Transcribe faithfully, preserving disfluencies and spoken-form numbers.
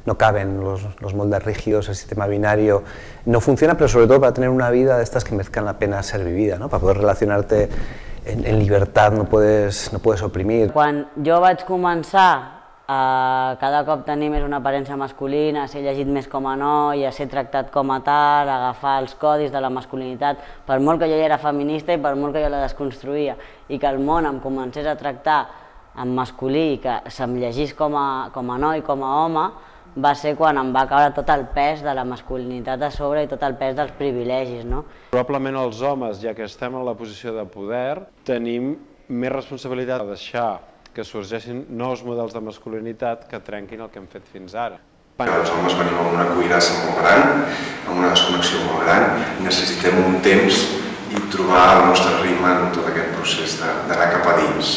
no caben los, los moldes rígidos, el sistema binario no funciona, pero sobre todo para tener una vida de estas que merezcan la pena ser vivida, ¿no? Para poder relacionarte en, en libertad, no puedes, no puedes oprimir. Quan jo vaig començar a cada cop tenir més una aparença masculina, a ser llegit més com a noi, a ser tractat com a tal, a agafar els codis de la masculinitat, per molt que jo ja era feminista i per molt que jo la desconstruïa, i que el món em comencés a tractar en masculí i que se'm llegís com a, com a noi, com a home, va ser quan em va caure tot el pes de la masculinitat a sobre i tot el pes dels privilegis, no? Probablement els homes, ja que estem en la posició de poder, tenim més responsabilitat de deixar que sorgeixin nous models de masculinitat que trenquin el que hem fet fins ara. Els homes venim amb una cuirassa molt gran, amb una desconnexió molt gran, i necessitem un temps i trobar el nostre ritme en tot aquest procés d'anar cap a dins.